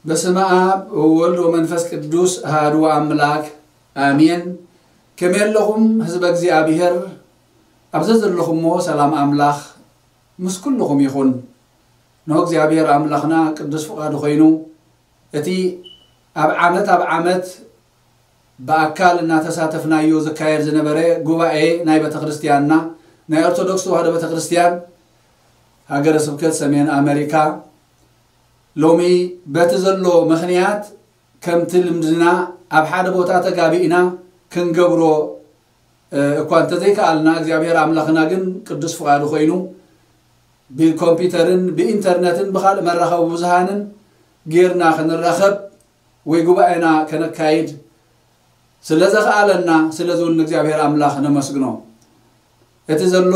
በስመ አብ ወወልድ ወመንፈስ ቅዱስ አሐዱ አምላክ አሜን። ከመይ ኣለኹም ህዝበ እግዚኣብሔር? ኣብ ዘዘለኹሞ ሰላም ኣምላኽ ምስ ኩልኹም ይኹን። ንሆ እግዚኣብሔር ኣምላኽና ቅዱስ ፍቓዱ ኮይኑ እቲ ኣብ ዓመት ኣብ ዓመት ብኣካል እናተሳተፍናዮ ዝካየድ ዝነበረ ጉባኤ ናይ ቤተ ክርስቲያንና ናይ ኦርቶዶክስ ተዋህዶ ቤተ ክርስቲያን ሃገረ ስብከት ሰሜን ኣመሪካ ሎሚ በቲ ዘሎ ምኽንያት ከምቲ ልምድና ኣብ ሓደ ቦታ ተጋቢእና ክንገብሮ እኳ እንተዘይከኣልና እግዚኣብሔር ኣምላኽና ግን ቅዱስ ፍቓዱ ኮይኑ ብኮምፒውተርን ብኢንተርነትን ብኻልእ መራኸቢ ብዙሃንን ጌርና ክንራኸብ ወይ ጉባኤና ከነካይድ ስለ ዘኽኣለና ስለዚ እውን ንእግዚኣብሔር ኣምላኽ ነመስግኖ። እቲ ዘሎ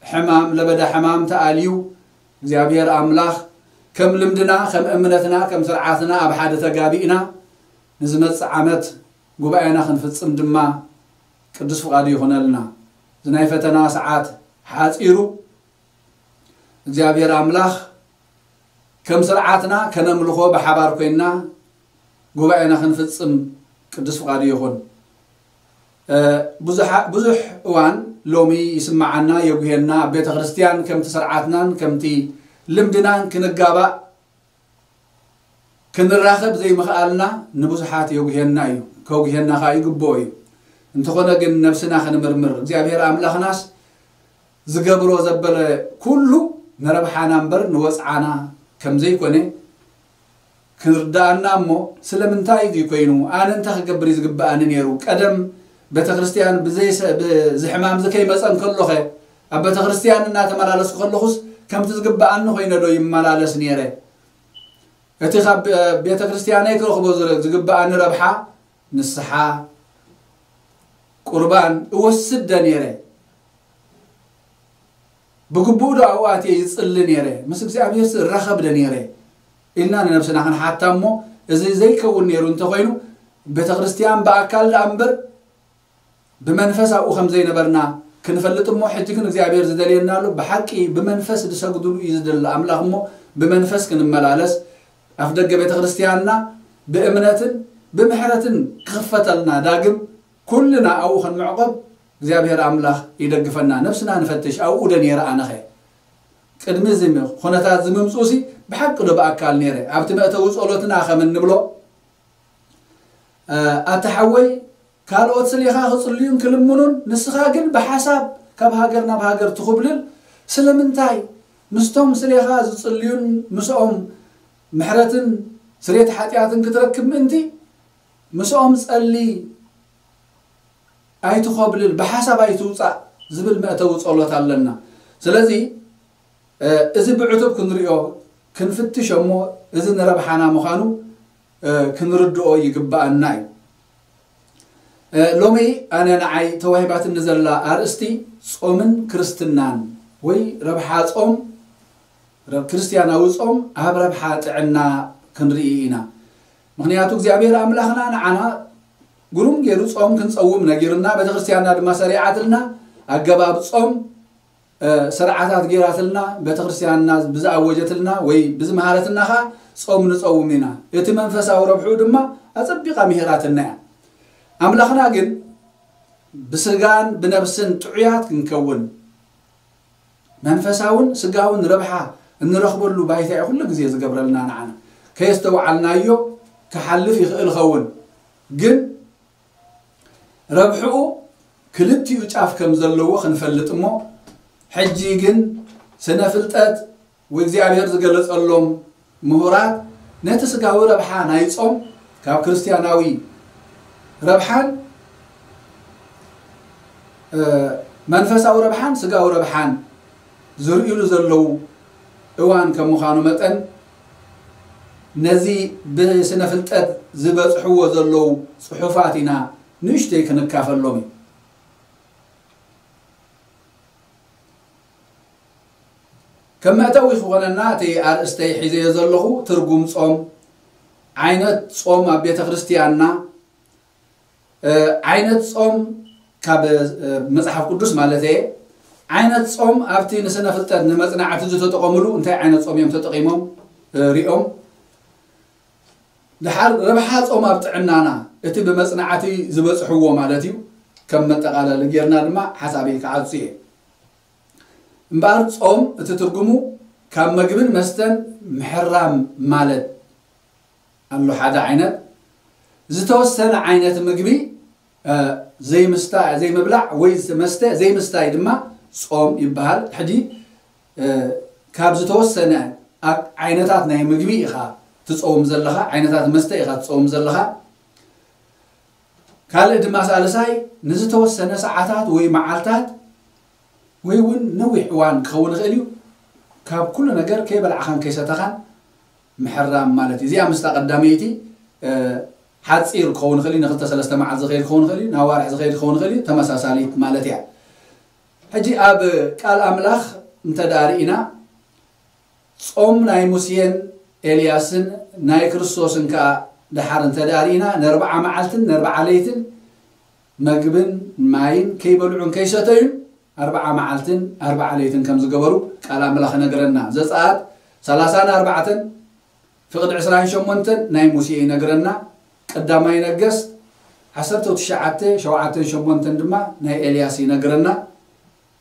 ሕማም ለበዳ ሕማም ተኣልዩ እግዚኣብሔር ኣምላኽ ከም ልምድና ከም እምነትና ከም ስርዓትና ኣብ ሓደ ተጋቢእና ንዝመጽእ ዓመት ጉባኤና ክንፍጽም ድማ ቅዱስ ፍቓዱ ይኹነልና። እዚ ናይ ፈተና ሰዓት ሓጺሩ እግዚኣብሔር ኣምላኽ ከም ስርዓትና ከነምልኾ ብሓባር ኮይንና ጉባኤና ክንፍጽም ቅዱስ ፍቓዱ ይኹን። ብዙሕ እዋን ሎሚ ይስምዓና የጉሄና ኣብ ቤተ ክርስቲያን ከምቲ ስርዓትናን ከምቲ ልምድናን ክንጋባእ ክንራኸብ ዘይምኽኣልና ንብዙሓት የጉሄና እዩ። ከጉሄና ከዓ ይግብኦ እዩ። እንተኾነ ግን ነብስና ክንምርምር እግዚኣብሔር ኣምላኽናስ ዝገብሮ ዘበለ ኩሉ ንረብሓና እምበር ንወፅዓና ከም ዘይኮነ ክንርዳኣና እሞ ስለምንታይ እዚ ኮይኑ ኣነ እንታይ ክገብር እዩ ዝግበኣኒ ነይሩ ቀደም ቤተ ክርስቲያን ብዘይሰ- ብዚ ሕማም እዚ ከይመፀ እንከሎኸ ኣብ ቤተ ክርስቲያን እናተመላለስኩ ከለኹስ ከምቲ ዝግበኣኒ ኮይነ ዶ ይመላለስ ነይረ እቲ ካብ ቤተ ክርስቲያነይ ክረኽቦ ዝግበኣኒ ረብሓ ንስሓ ቁርባን እወስድ ደ ነይረ ብግቡእ ዶ ኣብኡ ኣትየ ይጽሊ ነይረ ምስ እግዚኣብሔር እራኸብ ደ ነይረ ኢልና ንነብስና ክንሓታ እሞ እዚ ዘይከውን ነይሩ እንተኮይኑ ቤተ ክርስቲያን ብኣካል ደኣ እምበር ብመንፈስ ኣብኡ ከም ዘይነበርና ክንፈልጥ እሞ ሕጂ ግን እግዚኣብሔር ዝደልየና ኣሎ ብሓቂ ብመንፈስ ዝሰግድሉ እዩ ዝደሊ ኣምላኽ እሞ ብመንፈስ ክንመላለስ ኣፍ ደገ ቤተ ክርስቲያንና ብእምነትን ብምሕረትን ክኽፈተልና ዳግም ኩልና ኣብኡ ክንምዕቆብ እግዚኣብሔር ኣምላኽ ይደግፈና ነብስና ንፈትሽ ኣብኡ ደ ነይረ ኣነኸ ቅድሚ እዚ ኩነታት ዝምምፅኡ ሲ ብሓቂ ዶ ብኣካል ነይረ ኣብቲ መእተዊ ፀሎትና ከም እንብሎ ኣታ ሓወይ ካልኦት ስሌኻ ክጽልዩን ክልምኑን ንስኻ ግን ብሓሳብ ካብ ሃገር ናብ ሃገር ትኹብልል ስለምንታይ ምስቶም ስሌኻ ዝጽልዩን ምስኦም ምሕረትን ስሬት ሓጢኣትን ክትረክብ ምእንቲ ምስኦም ጸሊ ኣይትኾብልል ብሓሳብ ኣይትውጻእ ዝብል መእተዊ ጸሎት ኣለና ስለዚ እዚ ብዕቱብ ክንሪኦ ክንፍትሽ እሞ እዚ ንረብሓና ምዃኑ ክንርድኦ ይግብኣና እዩ። ሎሚ ኣነ ንዓይ ተዋሂባትኒ ዘላ ኣርእስቲ ጾምን ክርስትናን ወይ ረብሓ ጾም ክርስትያናዊ ጾም ኣብ ረብሓ ጥዕና ክንርኢ ኢና። ምኽንያቱ እግዚኣብሔር ኣምላኽና ንዓና ግሩም ገይሩ ጾም ክንጸውም ነጊርና ቤተክርስትያንና ድማ ሰሪዓትልና ኣገባብ ጾም ስርዓታት ገይራትልና ቤተክርስትያንና ብዝኣወጀትልና ወይ ብዝመሃረትና ከዓ ጾም ንጸውም ኢና እቲ መንፈሳዊ ረብሕኡ ድማ ኣጸቢቓ ምሂራትና እያ ኣምላኽና ግን ብስጋን ብነብስን ጥዑያት ክንከውን መንፈሳውን ስጋውን ረብሓ እንረኽበሉ ባይታ እዩ ኩሉ ግዜ ዝገብረልና ንዓና ከየስተውዓልናዮ ክሓልፍ ይኽእል ኸውን ግን ረብሕኡ ክልቲኡ ጫፍ ከም ዘለዎ ክንፈልጥ እሞ ሕጂ ግን ስነ ፍልጠት ወእግዚኣብሔር ዝገለጸሎም ምሁራት ነቲ ስጋዊ ረብሓ ናይ ጾም ካብ ክርስትያናዊ ረብሓን መንፈሳዊ ረብሓን ስጋዊ ረብሓን ዝርእሉ ዘለዉ እዋን ከም ምዃኑ መጠን ነዚ ብስነ ፍልጠት ዝበጽሕዎ ዘለዉ ጽሑፋት ኢና ንእሽተይ ክንካፈሎም እዩ። ከም መእተዊ ክኾነና እቲ ኣርእስተይ ሒዘዮ ዘለኹ ትርጉም ጾም፣ ዓይነት ጾም ኣብ ቤተ ክርስቲያንና፣ እ፣ ዓይነት ጾም ካብ፣ እ፣ መጽሓፍ ቅዱስ ማለት እየ። ዓይነት ጾም ኣብቲ ንስነ ፍልጠት ንመጽናዕቲ ዝተጠቐሙሉ እንታይ ዓይነት ጾም እዮም ተጠቒሞም፣ እ፣ ሪኦም። ድሓር ረብሓ ጾም ኣብ ጥዕናና እቲ ብመጽናዕቲ ዝበጽሕዎ ማለት እዩ። ከም መጠቓለሊ ጌርና ድማ ሓሳበይ ክዓጹ እየ። እምበኣር ጾም እቲ ትርጉሙ ካብ መግብን መስተን ምሕራም ማለት ኣሎ። ሓደ ዓይነት ዝተወሰነ ዓይነት ምግቢ፣ እ፣ ዘይምስታ-፣ ዘይምብላዕ ወይ መስተ ዘይምስታይ ድማ ጾም ይበሃል። ሕጂ፣ እ፣ ካብ ዝተወሰነ ኣ-፣ ዓይነታት ናይ ምግቢ ኢኻ ትጸውም ዘለኻ፣ ዓይነታት መስተ ኢኻ ትጸውም ዘለኻ። ካልእ ድማ ሳልሳይ ንዝተወሰነ ሰዓታት ወይ መዓልታት ወይ እውን ነዊሕ እዋን ክኸውን ይኽእል እዩ። ካብ ኩሉ ነገር ከይበላዕኻን ከይሰተኻን ምሕራም ማለት እዩ። እዚኣ ምስታ ቀዳመይቲ፣ እ፣ ሓጺር ክኸውን ይኽእል እዩ፣ ንክልተ ሰለስተ መዓልቲ ዝኸይድ ክኸውን ይኽእል እዩ፣ ናብ ኣዋርሕ ዝኸይድ ክኸውን ይኽእል እዩ፣ ተመሳሳሊት ማለት እያ። ሕጂ ኣብ ቃል ኣምላኽ እንተ ደኣ ርኢና፣ ጾም ናይ ሙሴን ኤልያስን ናይ ክርስቶስን ከኣ ደሓር እንተ ደኣ ርኢና፣ ነርብዓ መዓልትን ነርብዓ ለይትን መግብን ማይን ከይበልዑን ከይሰተዩን ኣርብዓ መዓልትን ኣርብዓ ለይትን ከም ዝገበሩ ቃል ኣምላኽ ይነግረና። ዘጸኣት ሰላሳን ኣርባዕተን ፍቕዲ ዕስራን ሸሞንተን ናይ ሙሴ ይነግረና። ቀዳማይ ነገስት ዓሰርተ ትሽዓተ ሸውዓተን ሸሞንተን ድማ ናይ ኤልያስ ይነግረና።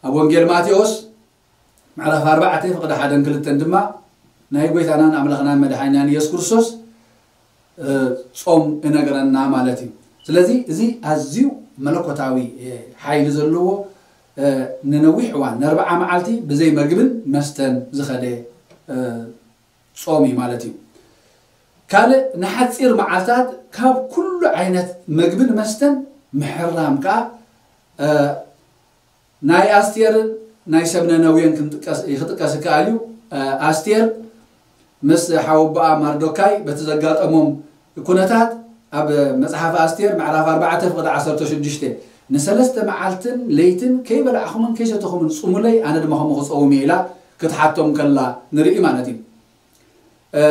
ኣብ ወንጌል ማቴዎስ ምዕራፍ ኣርባዕተ ፍቕዲ ሓደን ክልተን ድማ ናይ ጐይታናን ኣምላኽናን መድሓኒናን ኢየሱስ ክርስቶስ፣ እ፣ ጾም እነግረና ማለት እዩ። ስለዚ እዚ ኣዝዩ መለኮታዊ፣ እ፣ ሓይሊ ዘለዎ፣ እ፣ ንነዊሕ እዋን፣ ንኣርብዓ መዓልቲ ብዘይ መግብን መስተን ዝኸደ፣ እ፣ ጾም እዩ ማለት እዩ። ካልእ ንሓጺር መዓልታት ካብ ኩሉ ዓይነት መግብን መስተን ምሕራም ከኣ፣ እ፣ ናይ ኣስቴርን ናይ ሰብ ነነዌን ክንጥቀስ፣ ክጥቀስ ይከኣል እዩ። እ፣ ኣስቴር ምስ ሓወቦኣ ማርዶካይ በቲ ዘጋጠሞም ኩነታት ኣብ መጽሓፍ ኣስቴር ምዕራፍ ኣርባዕተ ፍቕዲ ዓሰርተ ሽዱሽተ፣ "ንሰለስተ መዓልትን ለይትን ከይበላዕኹምን ከይሰተኹምን ጽሙለይ፣ ኣነ ድማ ከምኡ ክጸውም እየ" ኢላ ክትሓቶም ከላ ንርኢ ማለት እዩ። እ፣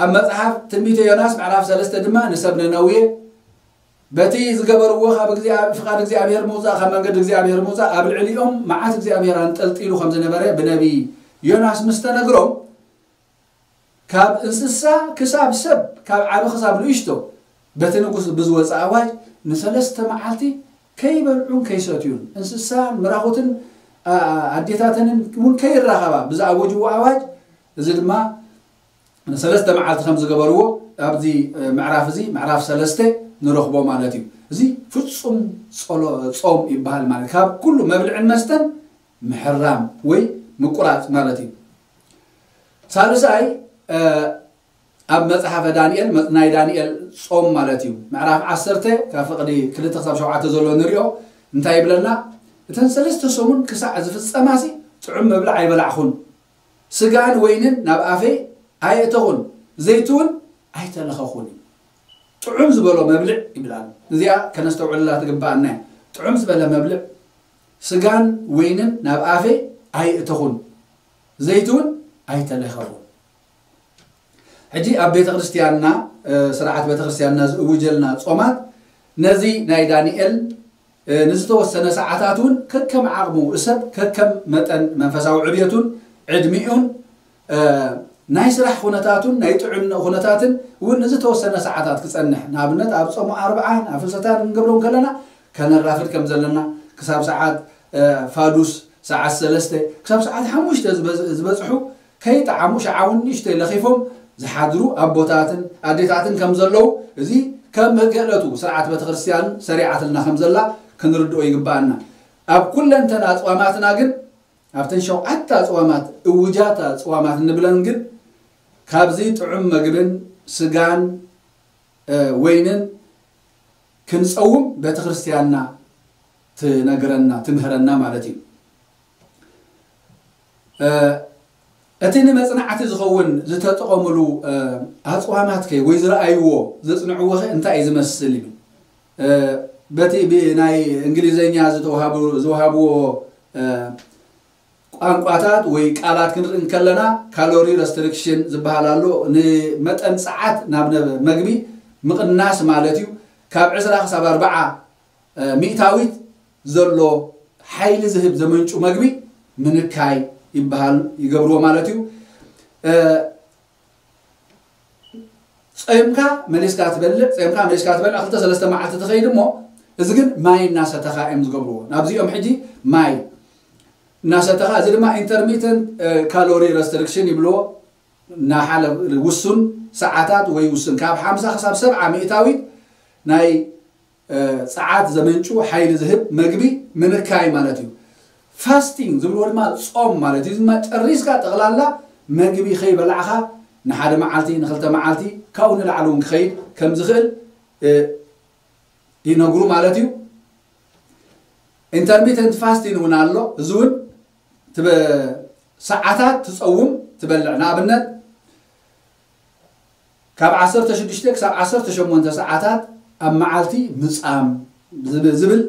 ኣብ መጽሓፍ ትንቢተ ዮናስ ምዕራፍ ሰለስተ ድማ ንሰብ ነነዌ በቲ ዝገበርዎ ካብ እግዚኣብ-፣ ፍቓድ እግዚኣብሔር ምውጻእ፣ ካብ መንገዲ እግዚኣብሔር ምውጻእ፣ ኣብ ልዕሊኦም መዓት እግዚኣብሔር ኣንጠልጢሉ ከም ዝነበረ ብነቢይ ዮናስ ምስ ተነግሮም፣ ካብ እንስሳ ክሳብ ሰብ፣ ካብ ዓቢ ክሳብ ንእሽቶ፣ በቲ ንጉስ ብዝወጸ ኣዋጅ ንሰለስተ መዓልቲ ከይበልዑን ከይሰትዩን፣ እንስሳን ምራኹትን፣ ኣ-፣ ኣዴታተንን እውን ከይራኸባ ብዝኣወጅዎ ኣዋጅ፣ እዚ ድማ ንሰለስተ መዓልቲ ከም ዝገበርዎ ኣብዚ፣ እ፣ ምዕራፍ እዚ፣ ምዕራፍ ሰለስተ ንረኽቦ ማለት እዩ። እዚ ፍጹም ጸሎ-፣ ጾም ይበሃል ማለት፣ ካብ ኩሉ መብልዕን መስተን ምሕራም ወይ ምቁራጽ ማለት እዩ። ሳልሳይ፣ እ፣ ኣብ መጽሓፈ ዳንኤል፣ መ-፣ ናይ ዳንኤል ጾም ማለት እዩ። ምዕራፍ ዓሰርተ ካብ ፍቕዲ ክልተ ክሳብ ሸውዓተ ዘሎ ንሪኦ። እንታይ ይብለና? "እተን ሰለስተ ሰሙን ክሳዕ ዝፍጸማሲ ጥዑም መብልዕ ኣይበላዕኹን፣ ስጋን ወይንን ናብ ኣፈይ ኣየእተኹን፣ ዘይቲ እውን ኣይተለኸኹን እዩ። ጥዑም ዝበሎ መብልዕ" ይብላል። እዚኣ ከነስተውዕለላ ትግብኣና እያ። ጥዑም ዝበለ መብልዕ፣ "ስጋን ወይንን ናብ ኣፈይ ኣየእተኹን፣ ዘይቲ እውን ኣይተለኸኹን።" ሕጂ ኣብ ቤተ ክርስቲያንና፣ እ፣ ስርዓት ቤተ ክርስቲያንና ዝእውጀልና ጾማት ነዚ ናይ ዳንኤል፣ እ፣ ንዝተወሰነ ሰዓታት እውን ከከም ዓቕሙ፣ ሰብ ከከም መጠን መንፈሳዊ ዕብየቱን ዕድሚኡን፣ እ፣ ናይ ስራሕ ኩነታቱን ናይ ጥዕና ኩነታትን እውን ንዝተወሰነ ሰዓታት ክጸንሕ፣ ንኣብነት ኣብ ጾሙ ኣርብዓ፣ ኣብ ፍልሰታ ክንገብሮ ከለና ከነራፍድ ከም ዘለና፣ ክሳብ ሰዓት፣ እ፣ ፋዱስ፣ ሰዓት ሰለስተ ክሳብ ሰዓት ሓሙሽተ ዝበዝ-፣ ዝበጽሑ ከይጠዓሙ ሸዓ እውን ንእሽተይ ለኺፎም ዝሓድሩ ኣቦታትን ኣዴታትን ከም ዘለዉ፣ እዚ ከም ህገ ዕለቱ ስርዓት ቤተክርስትያን ሰሪዓትልና ከም ዘላ ክንርድኦ ይግብኣና። ኣብ ኩለንተና ኣጽዋማትና ግን፣ ኣብተን ሸውዓተ ኣጽዋማት፣ እውጃት ኣጽዋማት እንብለን ግን፣ ካብዚ ጥዑም መግብን ስጋን፣ እ፣ ወይንን ክንጸውም ቤተክርስትያንና ትነግረና፣ ትምህረና ማለት እዩ። እ፣ እቲ ንመጽናዕቲ ዝኸውን ዝተጠቐሙሉ፣ እ፣ ኣጽዋማት ከ ወይ ዝረኣይዎ፣ ዘጽንዕዎ ኸ እንታይ እዩ ዝመስል ይብል። እ፣ በቲ ብ-፣ ናይ እንግሊዘኛ ዝተውሃቡ-፣ ዝወሃብዎ፣ እ፣ ቋንቋታት ወይ ቃላት ክንርኢ እንከለና፣ ካሎሪ ረስትሪክሽን ዝበሃል ኣሎ። ንመጠን ጸዓት ናብ ነ- መግቢ ምቕናስ ማለት እዩ። ካብ ዕስራ ክሳብ ኣርብዓ ሚእታዊት ዘሎ ሓይሊ ዝህብ ዘመንጩ መግቢ ምንካይ ይበሃል፣ ይገብርዎ ማለት እዩ። ጸምካ መሊስካ ትበልዕ፣ ጸምካ መሊስካ ትበልዕ፣ ክልተ ሰለስተ መዓልቲ ትኸይድ እሞ፣ እዚ ግን ማይ እናሰተኻ እዮም ዝገብርዎ። ናብዚኦም ሕጂ ማይ እናሰተኻ፣ እዚ ድማ ኢንተርሚተንት ካሎሪ ረስትሪክሽን ይብልዎ። እናሓለ ውሱን ሰዓታት ወይ ውሱን ካብ ሓምሳ ክሳብ ሰብዓ ሚእታዊት ናይ ጸዓት ዘመንጩ ሓይሊ ዝህብ መግቢ ምንካይ ማለት እዩ። ፋስቲንግ ዝብልዎ ድማ ጾም ማለት እዩ። ድማ ጨሪስካ ጠቕላላ መግቢ ከይበላዕኻ ንሓደ መዓልቲ፣ ንክልተ መዓልቲ፣ ካብኡ ንላዕሊ እውን ክኸይድ ከም ዝኽእል ይነግሩ ማለት እዩ። ኢንተርሚተንት ፋስቲንግ እውን ኣሎ። እዚ እውን ሰዓታት ትጸውም፣ ትበልዕ። ንኣብነት ካብ ዓሰርተ ሽዱሽተ ክሳብ ዓሰርተ ሸሞንተ ሰዓታት ኣብ መዓልቲ ምጻም ዝብል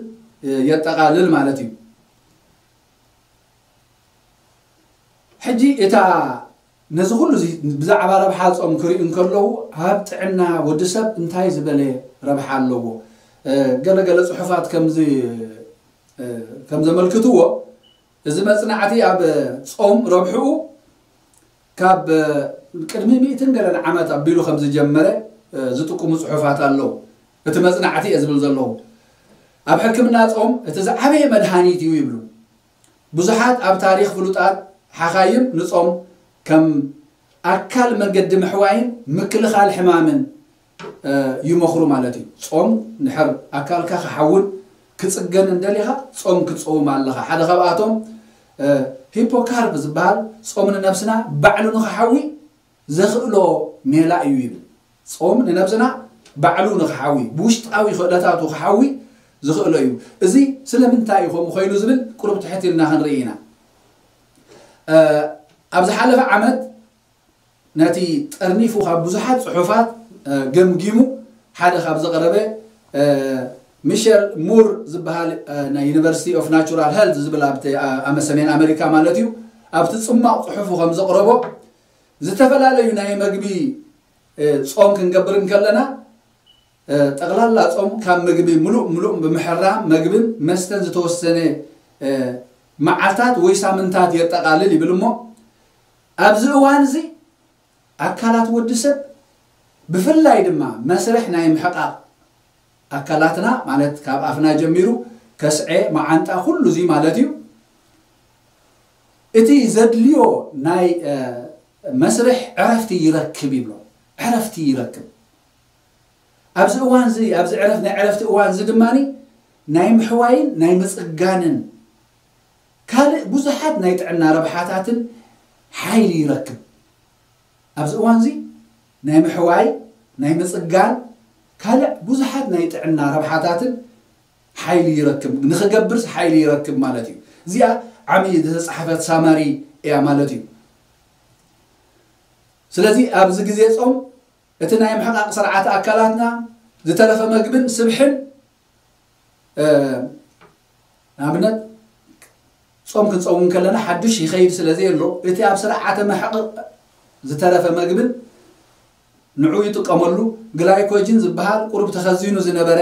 የጠቓልል ማለት እዩ። ሕጂ እታ ነዚ ኩሉ ብዛዕባ ረብሓ ጾም ክሪኡ እንከለዉ ኣብ ጥዕና ወዲ ሰብ እንታይ ዝበለ ረብሓ ኣለዎ? ገለገለ ጽሑፋት ከም ዘመልክትዎ፣ እዚ መጽናዕቲ ኣብ ጾም ረብሕኡ ካብ ቅድሚ ሚእትን ገለን ዓመት ኣቢሉ ከም ዝጀመረ ዝጥቁሙ ጽሑፋት ኣለዉ። እቲ መጽናዕቲ እየ ዝብል ዘለዉ። ኣብ ሕክምና ጾም እቲ ዝዓበየ መድሃኒት እዩ ይብሉ። ብዙሓት ኣብ ታሪኽ ፍሉጣት ሓኻይም ንጾም ከም ኣካል መገዲ ምሕዋይን ምክልኻል ሕማምን ይመኽሩ ማለት እዩ። ጾም ንሕር ኣካልካ ክሓውን ክጽገን እንደሊኻ ጾም ክትጸውም ኣለኻ። ሓደ ካብኣቶም ሂፖካርፕ ዝበሃል ጾም ንነብስና ባዕሉ ንኽሓዊ ዘኽእሎ ሜላ እዩ ይብል። ጾም ንነብስና ባዕሉ ንኽሓዊ፣ ብውሽጣዊ ክእለታቱ ክሓዊ ዝኽእሎ እዩ። እዚ ስለምንታይ እዩ ከምኡ ኮይኑ ዝብል ቁሩብ ትሕት ኢልና ክንርኢ ኢና። ኣብ ዝሓለፈ ዓመት ነቲ ጠርኒፉ ካብ ብዙሓት ጽሑፋት ገምጊሙ ሓደ ካብ ዘቕረበ ሚሸል ሙር ዝበሃል ናይ ዩኒቨርሲቲ ኦፍ ናቹራል ሄልት ዝብል ኣብቲ ኣብ ሰሜን ኣሜሪካ ማለት እዩ፣ ኣብቲ ጽማቕ ጽሑፉ ከም ዘቕረቦ ዝተፈላለዩ ናይ መግቢ ጾም ክንገብር እንከለና ጠቕላላ ጾም ካብ ምግቢ ምሉእ ምሉእ ብምሕራም መግብን መስተን ዝተወሰነ መዓልታት ወይ ሳምንታት የጠቓልል ይብል እሞ ኣብዚ እዋን እዚ ኣካላት ወዲ ሰብ ብፍላይ ድማ መስርሕ ናይ ምሕቃቕ ኣካላትና ማለት ካብ ኣፍና ጀሚሩ ከስዐ፣ መዓንጣ፣ ኩሉ እዚ ማለት እዩ። እቲ ዘድልዮ ናይ መስርሕ ዕረፍቲ ይረክብ ይብሎ። ዕረፍቲ ይረክብ። ኣብዚ እዋን እዚ ኣብዚ ዕረፍ ናይ ዕረፍቲ እዋን እዚ ድማ ናይ ምሕዋይን ናይ ምጽጋንን ካልእ ብዙሓት ናይ ጥዕና ረብሓታትን ሓይሊ ይረክብ። ኣብዚ እዋን እዚ ናይ ምሕዋይ ናይ ምጽጋን ካልእ ብዙሓት ናይ ጥዕና ረብሓታትን ሓይሊ ይረክብ፣ ንኽገብርስ ሓይሊ ይረክብ ማለት እዩ። እዚኣ ዓሚ ዝተጻሕፈት ሳማሪ እያ ማለት እዩ። ስለዚ ኣብዚ ግዜ ጾም እቲ ናይ ምሕቃቕ ስርዓተ ኣካላትና ዝተረፈ መግብን ስብሕን ንኣብነት ጾም ክንጸውም ከለና ሓድሽ ይኸይድ ስለ ዘየሎ እቲ ኣብ ስርዓተ ምሕቃቕ ዝተረፈ መግብን ንዑ ይጥቀመሉ። ግላይኮጅን ዝበሃል ቁሩብ ተኸዚኑ ዝነበረ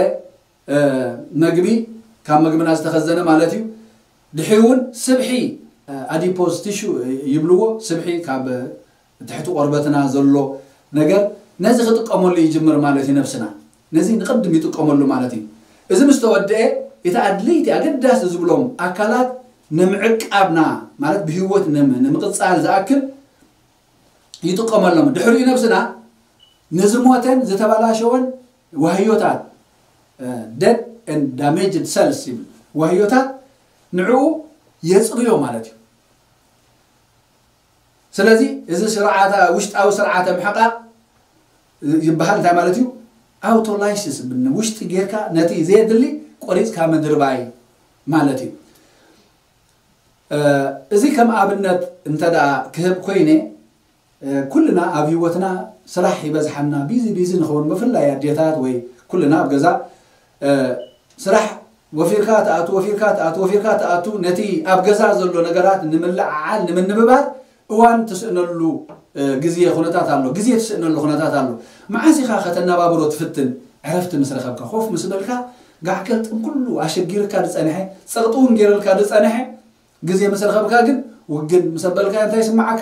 መግቢ ካብ መግብና ዝተኸዘነ ማለት እዩ። ድሕሪ እውን ስብሒ ኣዲፖዝ ቲሹ ይብልዎ፣ ስብሒ ካብ ትሕቲ ቆርበትና ዘሎ ነገር ነዚ ክጥቀመሉ ይጅምር ማለት እዩ። ነብስና ነዚ ንቅድም ይጥቀመሉ ማለት እዩ። እዚ ምስ ተወደአ እቲ ኣድለይቲ ኣገዳሲ ዝብሎም ኣካላት ንምዕቃብና ማለት ብህይወት ንምቅፃል ዝኣክል ይጥቀመሎም። ድሕሪኡ ነብስና ንዝሞተን ዝተበላሸወን ዋህዮታት dead and damaged cells ይብል ዋህዮታት ንዕኡ የፅርዮ ማለት እዩ። ስለዚ እዚ ስርዓተ ውሽጣዊ ስርዓተ ምሕቃቕ ይበሃል እንታይ ማለት እዩ? ኣውቶላይሲስ ውሽጢ ጌርካ ነቲ ዘየድሊ ቆሪፅካ ምድርባይ ማለት እዩ። እዚ ከም ኣብነት እንተ ደኣ ክህብ ኮይነ ኩልና ኣብ ህይወትና ስራሕ ይበዝሓና፣ ቢዚ ቢዚ ንኸውን፣ ብፍላይ ኣዴታት ወይ ኩልና ኣብ ገዛ ስራሕ ወፊርካ ትኣቱ፣ ወፊርካ ትኣቱ፣ ወፊርካ ትኣቱ። ነቲ ኣብ ገዛ ዘሎ ነገራት ንምልዕዓል፣ ንምንብባር እዋን ትስእነሉ፣ እ፣ ግዜ ኩነታት ኣሎ። ግዜ ትስእነሉ ኩነታት ኣሎ። መዓስ ኢኻ ከተነባብሮ ትፍትን? ዕረፍቲ ምስ ረኸብካ፣ ኮፍ ምስ በልካ፣ ጋዕ ገልጥም ኩሉ ኣሸጊርካ ዝጸንሐ፣ ጸቕጢ እውን ገይሩልካ ዝጸንሐ፣ ግዜ ምስ ረኸብካ ግን፣ ውግን ምስ ኣበልካ እንታይ ይስምዓካ?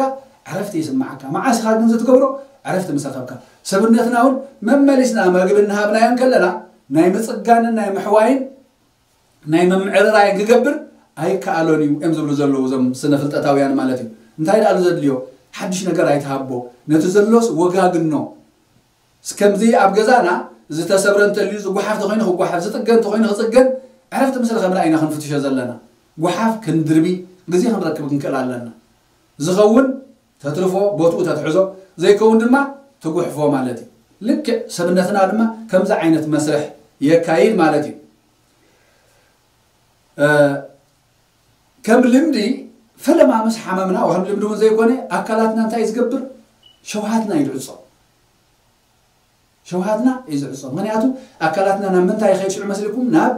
ዕረፍቲ ይስምዓካ። መዓስ ኢኻ ግን እዚ ትገብሮ? ዕረፍቲ ምስ ረኸብካ። ሰብነትና እውን መመሊስና መግቢ እናሃብናዮ እንከለና፣ ናይ ምጽጋንን ናይ ምሕዋይን ናይ ምምዕርራይን ክገብር ኣይከኣሎን እዩ እዮም ዝብሉ ዘለዉ እዞም ስነ ፍልጠታውያን ማለት እዩ። እንታይ ደኣ ዘድልዮ? ሓድሽ ነገር ኣይትሃቦ፣ ነቲ ዘሎስ ወጋግኖ። እስከምዚ ኣብ ገዛና ዝተሰብረ እንተልዩ ዝጓሓፍ ተኾይኑ ክጓሓፍ፣ ዝጥገን ተኾይኑ ክጽገን፣ ዕረፍቲ ምስ ረኸብና ኢና ክንፍትሾ ዘለና። ጓሓፍ ክንድርቢ ግዜ ክንረክብ ክንክእል ኣለና። ዝኸውን ተትርፎ፣ ቦትኡ ተትሕዞ፣ ዘይከውን ድማ ትጉሕፎ ማለት እዩ። ልክዕ ሰብነትና ድማ ከምዚ ዓይነት መስርሕ የካይድ ማለት እዩ። እ፣ ከም ልምዲ ፈለማ ምስ ሓመምና፣ ከም ልምዲ እውን ዘይኮነ፣ ኣካላትና እንታይ እዩ ዝገብር? ሸውሃትና እዩ ዝዕጾ። ሸውሃትና እዩ ዝዕጾ። ምኽንያቱ ኣካላትና ናብ ምንታይ ይኸይድ ሽዑ መስልኩም? ናብ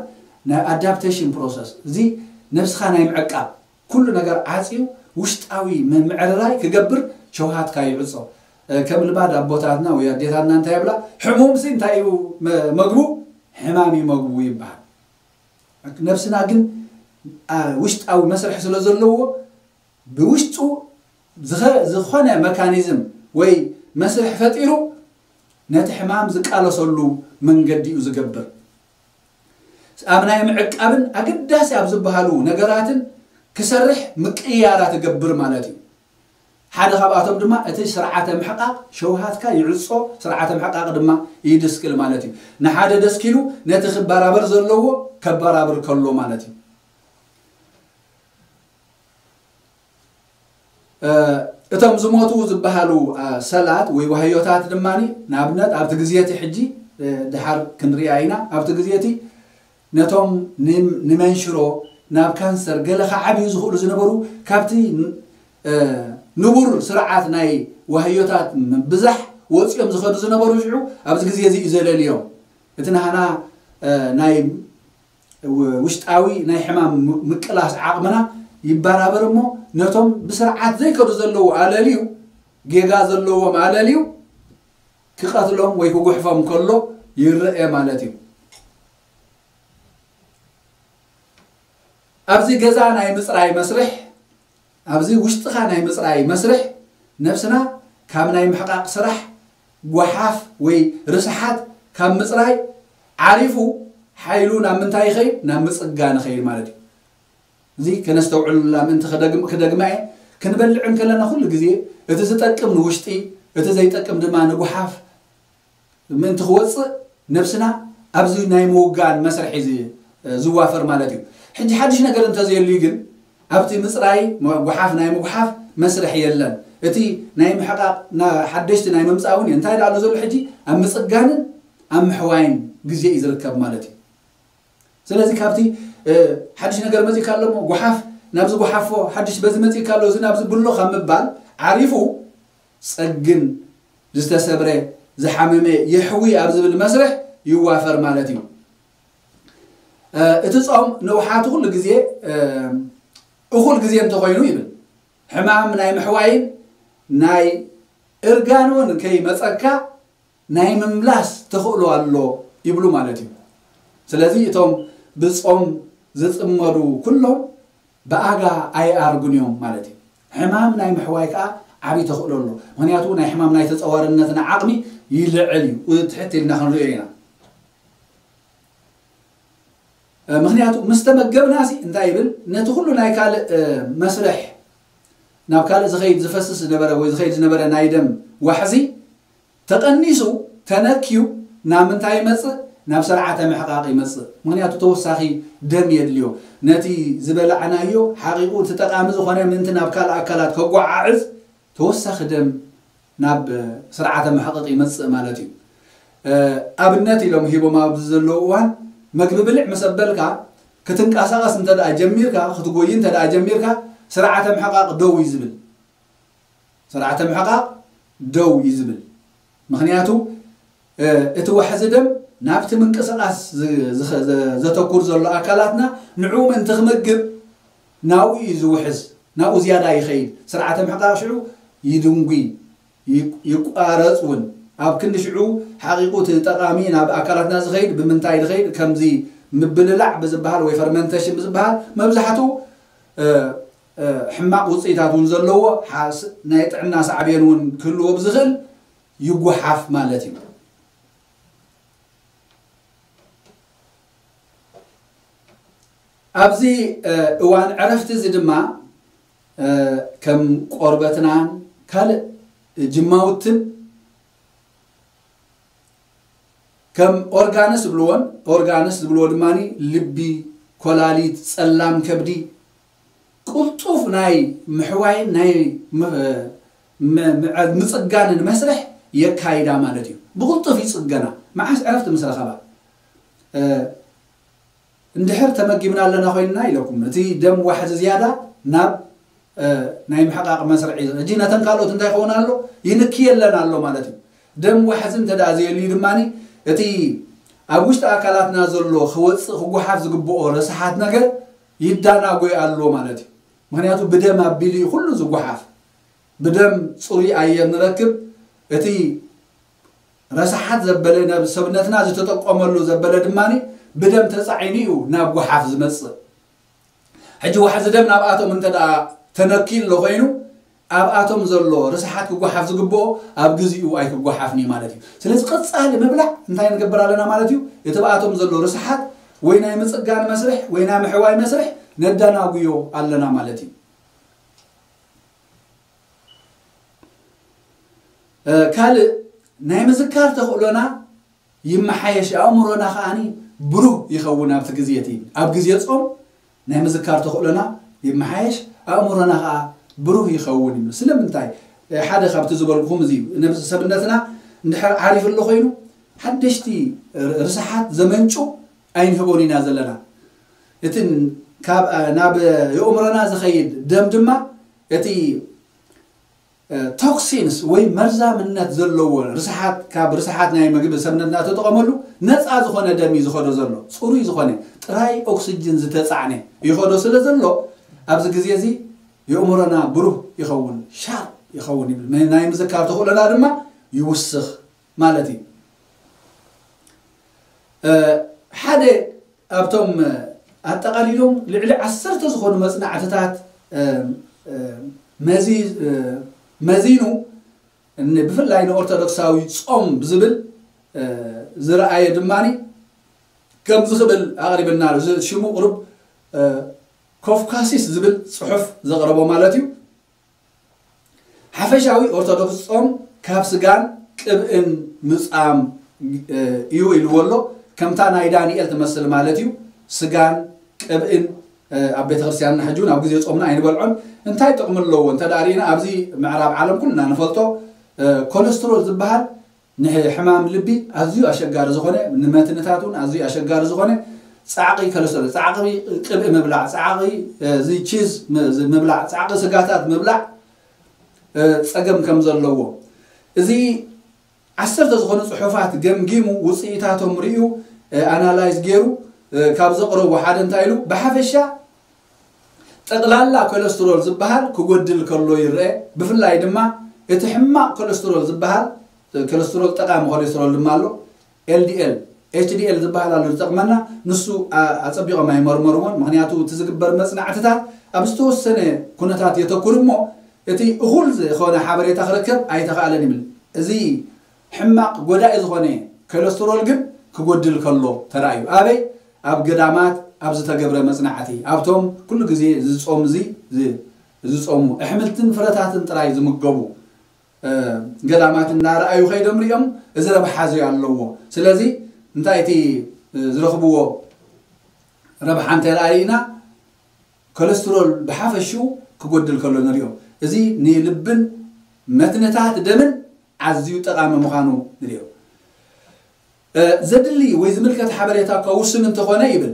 ናይ ኣዳፕቴሽን ፕሮሰስ። እዚ ነብስኻ ናይ ምዕቃብ፣ ኩሉ ነገር ዓጽዩ ውሽጣዊ ምምዕርራይ ክገብር ሸውሃትካ ይዕጾ። እ፣ ከም ልማድ ኣቦታትና ወይ ኣዴታትና እንታይ ይብላ? ሕሙምሲ እንታይ እዩ መ-፣ መግቡ? ሕማም እዩ መግቡ ይበሃል። ነብስና ግን፣ አ፣ ውሽጣዊ መስርሕ ስለ ዘለዎ፣ ብውሽጡ ዝኸ-፣ ዝኾነ መካኒዝም ወይ መስርሕ ፈጢሩ ነቲ ሕማም ዝቃለሰሉ መንገዲ እዩ ዝገብር። ኣብ ናይ ምዕቃብን ኣገዳሲ ኣብ ዝበሃሉ ነገራትን ክሰርሕ ምቅይያራት ይገብር ማለት እዩ። ሓደ ካብኣቶም ድማ እቲ ስርዓተ ምሕቃቕ ሸውሃትካ ይዕጾ፣ ስርዓተ ምሕቃቕ ድማ ይድስክል ማለት እዩ። ንሓደ ደስኪሉ ነቲ ክበራበር ዘለዎ ከበራብር ከሎ ማለት እዩ። እ፣ እቶም ዝሞቱ ዝበሃሉ፣ እ፣ ሰላት ወይ ዋህዮታት ድማ ንኣብነት ኣብቲ ግዜ እቲ ሕጂ፣ እ፣ ድሓር ክንሪኣ ኢና። ኣብቲ ግዜ እቲ ነቶም ን-፣ ንመንሽሮ ናብ ካንሰር ገለ ክዓብዩ ዝኽእሉ ዝነበሩ ካብቲ ን-፣ እ፣ ንቡር ስርዓት ናይ ዋህዮታት ብዛሕ ወፂኦም ዝኸዱ ዝነበሩ ሽዑ ኣብዚ ግዜ እዚ እዩ ዘለልዮም። እቲ ናህና፣ እ፣ ናይ ው-፣ ውሽጣዊ ናይ ሕማም ም-፣ ምቅላስ ዓቕምና ይበራበር እሞ ነቶም ብስርዓት ዘይከዱ ዘለዉ ኣለልዩ፣ ጌጋ ዘለዎም ኣለልዩ ክቐትሎም ወይ ክጉሕፎም ከሎ ይረአ ማለት እዩ። ኣብዚ ገዛ ናይ ምጽራይ መስርሕ፣ ኣብዚ ውሽጥኻ ናይ ምጽራይ መስርሕ፣ ነብስና ካብ ናይ ምሕቃቕ ስራሕ፣ ጓሓፍ ወይ ርስሓት ካብ ምጽራይ ዓሪፉ፣ ሓይሉ ናብ ምንታይ ይኸይድ? ናብ ምጽጋን ይኸይድ ማለት እዩ። እዚ ከነስተውዕሉላ ምእንቲ ክደግም-፣ ክደግማ እየ። ክንበልዕ እንከለና ኩሉ ግዜ እቲ ዝጠቅም ንውሽጢ፣ እቲ ዘይጠቅም ድማ ንጓሓፍ ምእንቲ ክወፅእ ነብስና ኣብዚ ናይ ምውጋን መስርሕ እዩ ዝ-፣ ዝዋፈር ማለት እዩ። ሕጂ ሓድሽ ነገር እንተዘየልዩ ግን ኣብቲ ምፅራይ መ-፣ ጓሓፍ ናይ ምጉሓፍ መስርሕ የለን። እቲ ናይ ምሕቃቕ ና-፣ ሓደሽቲ ናይ ምምፃእ እውን እንታይ ደኣ ኣሎ ዘሎ ሕጂ ኣብ ምፅጋንን ኣብ ምሕዋይን ግዜ እዩ ዝርከብ ማለት እዩ። ስለዚ ካብቲ፣ እ፣ ሓድሽ ነገር መፂእካ ኣሎ እሞ ጓሓፍ ናብዚ ጓሓፎ፣ ሓድሽ በዚ መፂእካ ኣሎ እዚ ናብዚ ብሎ ካብ ምባል ዓሪፉ ጸግን ዝተሰብረ ዝሓመመ የሕዊ ኣብ ዝብል መስርሕ ይዋፈር ማለት እዩ። እ፣ እቲ ጾም ንውሓቱ ኩሉ ግዜ፣ እ፣ እኹል ግዜ እንተኾይኑ ይብል። ሕማም ናይ ምሕዋይን ናይ እርጋን እውን ከይመጸካ ናይ ምምላስ ተኽእሎ ኣሎ ይብሉ ማለት እዩ። ስለዚ እቶም ብጾም ዝጽመዱ ኩሎም ብኣጋ ኣይኣርጉን እዮም ማለት እዩ። ሕማም ናይ ምሕዋይ ከኣ ዓብዪ ተኽእሎ ኣሎ። ምኽንያቱ ናይ ሕማም ናይ ተጸዋርነትና ዓቕሚ ይልዕል እዩ። ትሕት ኢልና ክንሪኦ ኢና። እ፣ ምኽንያቱ ምስ ተመገብናሲ እንታይ ይብል? ነቲ ኩሉ ናይ ካልእ፣ እ፣ መስርሕ፣ ናብ ካልእ ዝኸይድ ዝፈስስ ዝነበረ ወይ ዝኸይድ ዝነበረ ናይ ደም ዋሕዚ ተቐኒሱ፣ ተነክዩ ናብ ምንታይ ይመጽእ? ናብ ስርዓተ ምሕቃቕ ይመጽእ። ምኽንያቱ ተወሳኺ ደም የድልዮ። ነቲ ዝበላዕናዮ ሓቂቑ እቲ ጠቓሚ ዝኾነ ምእንቲ ናብ ካልእ ኣካላት ከጓዓዕዝ ተወሳኺ ደም ናብ ስርዓተ ምሕቃቕ ይመጽእ ማለት እዩ። እ፣ ኣብነት ኢሎም ሂቦም ኣብዚ ዘለዉ እዋን፣ መግቢ ብልዕ ምስ ኣበልካ፣ ክትንቀሳቐስ እንተ ደኣ ጀሚርካ፣ ክትጎዪ እንተ ደኣ ጀሚርካ፣ ስርዓተ ምሕቃቕ ደው እዩ ዝብል። ስርዓተ ምሕቃቕ ደው እዩ ዝብል። ምኽንያቱ፣ እ፣ እቲ ዋሕዚ ደም ናብቲ ምንቅስቃስ ዝ- ዝኸ- ዘ- ዘተኩር ዘሎ ኣካላትና ንዕኡ ምእንቲ ክምግብ ናብኡ እዩ ዝውሕዝ፣ ናብኡ ዝያዳ ይኸይድ። ስርዓተ ምሕቃቕ ሽዑ ይድንጉይ፣ ይ- ይቋረጽ እውን። ኣብ ክንዲ ሽዑ ሓቂቑ እቲ ጠቓሚ ናብ ኣካላትና ዝኸይድ ብምንታይ ዝኸይድ? ከምዚ ምብልላዕ ብዝበሃል ወይ ፈርመንቴሽን ብዝበሃል መብዛሕትኡ እ፣ እ፣ ሕማቕ ውፅኢታት እውን ዘለዎ ሓስ- ናይ ጥዕና ሳዕቤን እውን ክህልዎ ብዝኽእል ይጉሓፍ ማለት እዩ። ኣብዚ እዋን ዕረፍቲ እዚ ድማ ከም ቆርበትናን ካልእ ጅማውትን ከም ኦርጋንስ ዝብልዎን ኦርጋንስ ዝብልዎ ድማ ልቢ፣ ኮላሊት፣ ጸላም ከብዲ ቅልጡፍ ናይ ምሕዋይን ናይ ምጽጋንን መስርሕ የካይዳ ማለት እዩ። ብቕልጡፍ ይጽገና። መዓስ ዕረፍቲ ምስ ረኸባ እንድሕር ተመጊብና ኣለና ኮይንና ኢለኩም እቲ ደም ዋሕዚ ዝያዳ ናብ ናይ ምሕቃቕ መስርዕ እዩ። ሕጂ ነተን ካልኦት እንታይ ይኸውን ኣሎ? ይንክየለን ኣሎ ማለት እዩ። ደም ዋሕዚ እንተ ደኣ ዘየልዩ ድማ እቲ ኣብ ውሽጢ ኣካላትና ዘሎ ክወፅእ ክጓሓፍ ዝግብኦ ረስሓት ነገር ይዳናጎይ ኣሎ ማለት እዩ። ምክንያቱ ብደም ኣቢሉ እዩ ኩሉ ዝጓሓፍ። ብደም ፅሩይ ኣየር ንረክብ። እቲ ረስሓት ዘበለ ናብ ሰብነትና ዝተጠቀመሉ ዘበለ ድማ ብደም ተፃዒኑ እዩ ናብ ጓሓፍ ዝመፅእ። ሕጂ ዋሕዚ ደም ናብኣቶም እንተ ደኣ ተነኪሉ ኮይኑ ኣብኣቶም ዘሎ ርስሓት ክጓሓፍ ዝግብኦ ኣብ ግዚኡ ኣይክጓሓፍን እዩ ማለት እዩ። ስለዚ ቀጻሊ ምብላዕ እንታይ ንገብር ኣለና ማለት እዩ? እቲ ብኣቶም ዘሎ ርስሓት ወይ ናይ ምጽጋን መስርሕ ወይ ናይ ምሕዋይ መስርሕ ነዳናጉዮ ኣለና ማለት እዩ። ካልእ ናይ ምዝካር ተኽእሎና ይመሓየሽ፣ ኣእምሮና ከዓኒ ብሩህ ይኸውን። ኣብቲ ግዜ እቲ ኣብ ግዜ ጾም ናይ ምዝካር ተኽእሎና ይመሓየሽ፣ ኣእምሮና ከዓ ብሩህ ይኸውን ይብሉ። ስለምንታይ? ሓደ ካብቲ ዝበልኩኹም እዚ እዩ። ነብሲ ሰብነትና እንድሕር ዓሪፉ ኣሎ ኮይኑ ሓደሽቲ ርስሓት ዘመንጩ ኣይንህቦን ኢና ዘለና። እቲ ካብ ናብ የእምሮና ዝኸይድ ደም ድማ እቲ ቶክሲንስ ወይ መርዛምነት ዘለዎ ርስሓት ካብ ርስሓት ናይ ምግቢ ሰብነትና ተጠቐመሉ ነፃ ዝኾነ ደም እዩ ዝኸዶ ዘሎ። ፅሩይ ዝኾነ ጥራይ ኦክስጅን ዝተፃዕነ ይኸዶ ስለ ዘሎ ኣብዚ ግዜ እዚ የእምሮና ብሩህ ይኸውን፣ ሻርፕ ይኸውን ይብል። ናይ ምዝካር ተኽእሎና ድማ ይውስኽ ማለት እዩ። ሓደ ኣብቶም ኣጠቓሊሎም ልዕሊ ዓሰርተ ዝኾኑ መጽናዕትታት መዚኑ ብፍላይ ንኦርቶዶክሳዊ ጾም ብዝብል ዝረኣየ ድማ ከምዚ ክብል ኣቕሪብና ኣሎ። እዚ ሽሙ ቁሩብ ኮፍካሲስ ዝብል ጽሑፍ ዘቕረቦ ማለት እዩ። ሓፈሻዊ ኦርቶዶክስ ጾም ካብ ስጋን ቅብእን ምጻም እዩ ኢልዎ ኣሎ። ከምታ ናይ ዳንኤል ትመስል ማለት እዩ። ስጋን ቅብእን ኣብ ቤተ ክርስቲያንና ሕጂ እውን ኣብ ግዜ ጾምና ኣይንበልዖን። እንታይ ጥቕሚ ኣለዎ እንተ ደኣ ርኢና ኣብዚ ምዕራብ ዓለም ኩልና ንፈልጦ ኮለስትሮል ዝበሃል ንሕማም ልቢ ኣዝዩ ኣሸጋሪ ዝኾነ፣ ንመትንታት እውን ኣዝዩ ኣሸጋሪ ዝኾነ ጻዕቒ ከለስተሮል፣ ጻዕቒ ቅብኢ ምብላዕ፣ ጻዕቒ እዚ ቺዝ ምብላዕ፣ ጻዕቒ ስጋታት ምብላዕ ጸገም ከም ዘለዎ እዚ ዓሰርተ ዝኾኑ ጽሑፋት ገምጊሙ ውጽኢታቶም ርእዩ ኣናላይዝ ገይሩ ካብ ዘቕረቡ ሓደ እንታይ ኢሉ ብሓፈሻ ጠቕላላ ኮለስትሮል ዝበሃል ክጎድል ከሎ ይረአ። ብፍላይ ድማ እቲ ሕማቕ ኮለስትሮል ዝበሃል ኮለስትሮል ጠቓሚ ኮለስትሮል ድማ ኣሎ። ኤልዲኤል፣ ኤችዲኤል ዝበሃል ኣሎ ዝጠቕመና ንሱ ኣጸቢቖም ኣይመርመርዎን። ምክንያቱ እቲ ዝግበር መጽናዕትታት ኣብ ዝተወሰነ ኩነታት የተኩር እሞ እቲ እኹል ዝኾነ ሓበሬታ ክረከብ ኣይተኻእለን ይብል። እዚ ሕማቕ ጎዳኢ ዝኾነ ኮለስትሮል ግን ክጎድል ከሎ ተራእዩ። ኣበይ? ኣብ ገዳማት ኣብ ዝተገብረ መጽናዕቲ ኣብቶም ኩሉ ግዜ ዝጾም እዚ ዝጾሙ ኣሕምልትን ፍረታትን ጥራይ ዝምገቡ ገዳማት እናረኣዩ ከይዶም ሪኦም እዚ ረብሓ እዚ ኣለዎ። ስለዚ እንታይ እቲ ዝረኽብዎ ረብሓ እንተረኣይና ኮለስትሮል ብሓፈሽኡ ክጎድል ከሎ ንሪኦ። እዚ ንልብን መትንታት ደምን ኣዝዩ ጠቓሚ ምዃኑ ንሪኦ። ዘድሊ ወይ ዝምልከት ሓበሬታ እኳ ውሱን እንተኾነ ይብል፣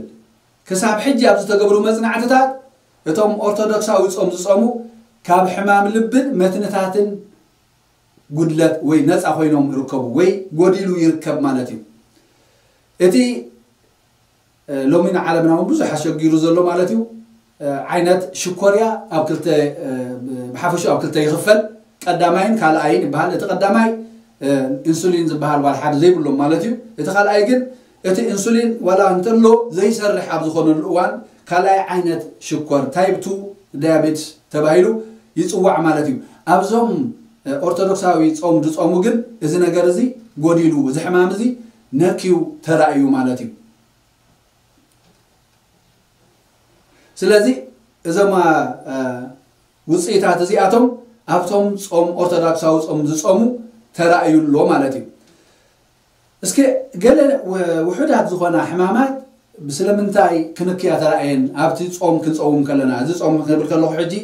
ክሳብ ሕጂ ኣብ ዝተገብሩ መጽናዕትታት እቶም ኦርቶዶክሳዊ ጾም ዝጾሙ ካብ ሕማም ልብን መትንታትን ጉድለት ወይ ነፃ ኮይኖም ይርከቡ ወይ ጎዲሉ ይርከብ ማለት እዩ። እቲ ሎሚ ንዓለምና እውን ብዙሕ ኣሸጊሩ ዘሎ ማለት እዩ። ዓይነት ሽኮርያ ኣብ ክልተ ብሓፈሽኡ ኣብ ክልተ ይኽፈል። ቀዳማይን ካልኣይን ይበሃል። እቲ ቀዳማይ ኢንሱሊን ዝበሃል ዋላ ሓደ ዘይብሎም ማለት እዩ። እቲ ካልኣይ ግን እቲ ኢንሱሊን ዋላ እንተሎ ዘይሰርሕ ኣብ ዝኾነሉ እዋን ካልኣይ ዓይነት ሽኮር ታይፕ ቱ ዳያቤትስ ተባሂሉ ይፅዋዕ ማለት እዩ። ኣብዞም ኦርቶዶክሳዊ ፆም ዝፆሙ ግን እዚ ነገር እዚ ጎዲሉ፣ እዚ ሕማም እዚ ነክዩ ተራእዩ ማለት እዩ። ስለዚ እዞም ውፅኢታት እዚኣቶም ኣብቶም ፆም ኦርቶዶክሳዊ ፆም ዝፆሙ ተራእዩ ኣሎ ማለት እዩ። እስኪ ገለ ውሑዳት ዝኾና ሕማማት ስለምንታይ ክንክያ ተራእየን ኣብቲ ፆም ክንፀውም ከለና፣ እዚ ፆም ክብል ከለኹ ሕጂ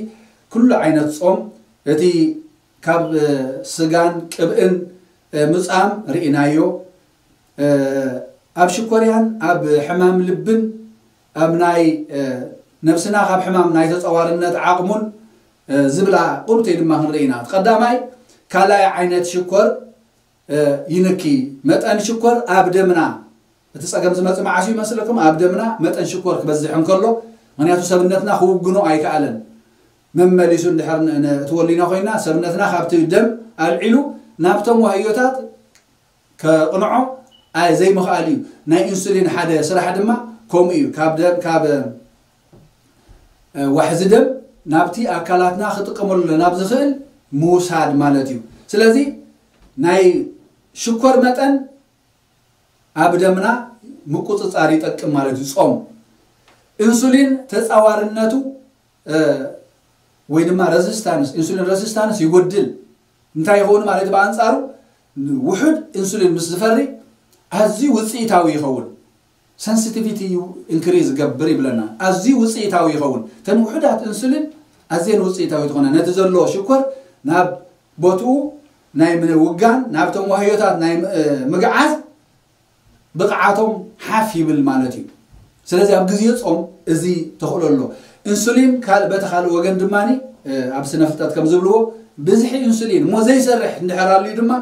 ኩሉ ዓይነት ፆም፣ እቲ ካብ ስጋን ቅብእን ምፃም ርኢናዮ። ኣብ ሽኮርያን ኣብ ሕማም ልብን ኣብ ናይ ነብስና ካብ ሕማም ናይ ተፀዋርነት ዓቕሙን ዝብላ ቁርብተይ ድማ ክንርኢ ኢና። ቀዳማይ ካልኣይ ዓይነት ሽኮር ይንኪ። መጠን ሽኮር ኣብ ደምና፣ እቲ ፀገም ዝመፅእ መዓስ እዩ ይመስለኩም? ኣብ ደምና መጠን ሽኮር ክበዝሕ እንከሎ፣ ምክንያቱ ሰብነትና ክውግኖ ኣይከኣለን። መመሊሱ እንድሕር እቲ ወሊና ኮይና ሰብነትና ካብቲ ደም ኣልዒሉ ናብቶም ዋህዮታት ከቕንዖ ዘይምኽኣል እዩ። ናይ ኢንሱሊን ሓደ ስራሕ ድማ ከምኡ እዩ። ካብ ደም ካብ ዋሕዚ ደም ናብቲ ኣካላትና ክጥቀመሉ ናብ ዝኽእል ምውሳድ ማለት እዩ። ስለዚ ናይ ሽኮር መጠን ኣብ ደምና ምቁፅፃር ይጠቅም ማለት እዩ። ፆም ኢንሱሊን ተፃዋርነቱ ወይ ድማ resistance፣ ኢንሱሊን resistance ይጎድል። እንታይ ይኸውን ማለት ብኣንፃሩ ውሑድ ኢንሱሊን ምስ ዝፈሪ ኣዝዩ ውፅኢታዊ ይኸውን። Sensitivity increase ይገብር ይብለና። ኣዝዩ ውፅኢታዊ ይኸውን። እተን ውሑዳት ኢንሱሊን ኣዝየን ውፅኢታዊ ዝኾነ ነቲ ዘሎ ሽኮር ናብ ቦትኡ ናይ ምውጋን ናብቶም ዋህዮታት ናይ ምግዓዝ ብቕዓቶም ሓፍ ይብል ማለት እዩ። ስለዚ ኣብ ግዜ ፆም እዚ ተኽእሎ ኣሎ። ኢንሱሊን በቲ ካልእ ወገን ድማ ኣብ ስነ ፍልጠት ከም ዝብልዎ ብዝሒ ኢንሱሊን እሞ ዘይሰርሕ እንድሕር ኣልዩ ድማ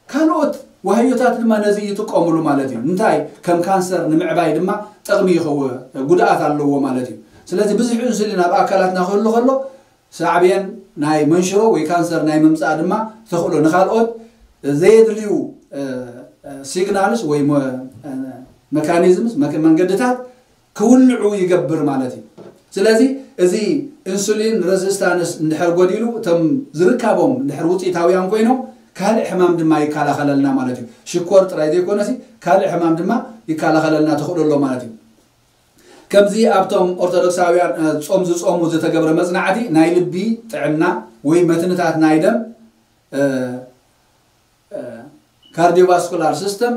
ካልኦት ዋህዮታት ድማ ነዚ ይጥቀምሉ ማለት እዩ። እንታይ ከም ካንሰር ንምዕባይ ድማ ጥቕሚ ይኸው ጉድኣት ኣለዎ ማለት እዩ። ስለዚ ብዙሕ ኢንሱሊን ኣብ ኣካላትና ክህሉ ከሎ ሳዕቤን ናይ መንሽሮ ወይ ካንሰር ናይ ምምፃእ ድማ ተኽእሎ፣ ንካልኦት ዘየድልዩ signals ወይ mechanisms መንገድታት ክውልዑ ይገብር ማለት እዩ። ስለዚ እዚ ኢንሱሊን resistance እንድሕር ጎዲሉ እቶም ዝርካቦም እንድሕር ውፅኢታውያን ኮይኖም ካልእ ሕማም ድማ ይከላኸለልና ማለት እዩ። ሽኮር ጥራይ ዘይኮነሲ ካልእ ሕማም ድማ ይከላኸለልና ተኽእሎ ኣሎ ማለት እዩ። ከምዚ ኣብቶም ኦርቶዶክሳውያን ጾም ዝጾሙ ዝተገብረ መጽናዕቲ ናይ ልቢ ጥዕና ወይ መትንታት ናይ ደም cardiovascular system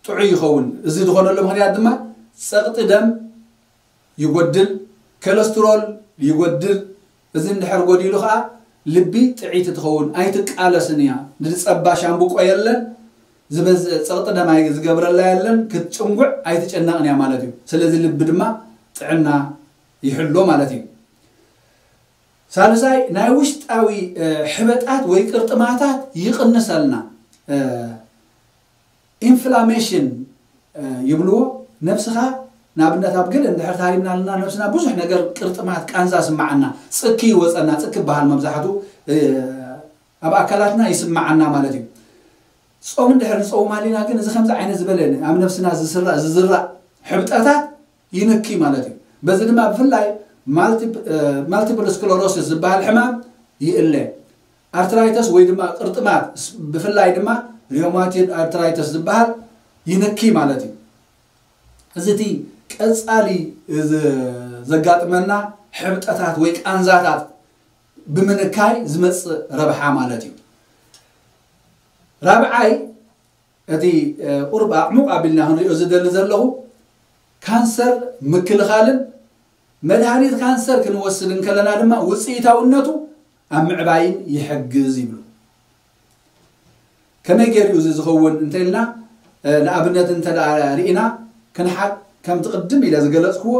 ጥዑይ ይኸውን። እዚ ዝኾነሉ ምኽንያት ድማ ጸቕጢ ደም ይጎድል፣ ኮለስትሮል ይጎድል። እዚ እንድሕር ጎዲሉ ከዓ ልቢ ጥዕይቲ ትኸውን፣ ኣይትቃለስን እያ። ንዝጸባ ሻምብቆ የለን፣ ዝበዝእ ጸቕጢ ደም ኣይ- ዝገብረላ የለን፣ ክትጭንጉዕ ኣይትጨነቕን እያ ማለት እዩ። ስለዚ ልቢ ድማ ጥዕና ይሕሎ ማለት እዩ። ሳልሳይ ናይ ውሽጣዊ ሕበጣት ወይ ቅርጥማታት ይቕንሰልና። ኢንፍላሜሽን ይብልዎ። ነብስኻ ንኣብነት ኣብ ገለ እንድሕር ታሪምና ኣለና ነብስና ብዙሕ ነገር ቅርጥማት ቃንዛ ስማዓና፣ ጽኪ ይወፀና። ጽኪ በሃል መብዛሕቱ ኣብ ኣካላትና ይስማዓና ማለት እዩ። ጾም እንድሕር ንፀውም ኣሊና ግን እዚ ከምዚ ዓይነት ዝበለ ኣብ ነብስና ዝስራእ ዝዝራእ ሕብጠታት ይንኪ ማለት እዩ። በዚ ድማ ብፍላይ multiple sclerosis ዝበሃል ሕማም ይእለ። ኣርትራይተስ ወይ ድማ ቅርጥማት ብፍላይ ድማ ሪዮማቲድ ኣርትራይተስ ዝበሃል ይንኪ ማለት እዩ። እዚ እቲ ቀጻሊ ዘጋጥመና ሕብጠታት ወይ ቃንዛታት ብምንካይ ዝመጽእ ረብሓ ማለት እዩ። ራብዓይ እቲ ቁርብ ኣዕሙቕ ኣቢልና ክንሪኦ ዝደሊ ዘለኹ ካንሰር ምክልኻልን መድሃኒት ካንሰር ክንወስድ እንከለና ድማ ውፅኢታውነቱ ኣብ ምዕባይን ይሕግዝ ይብሉ። ከመይ ገይሩ እዚ ዝኸውን እንተኢልና ንኣብነት እንተ ርኢና ክንሓቅ ከምቲ ቅድም ኢለ ዝገለፅክዎ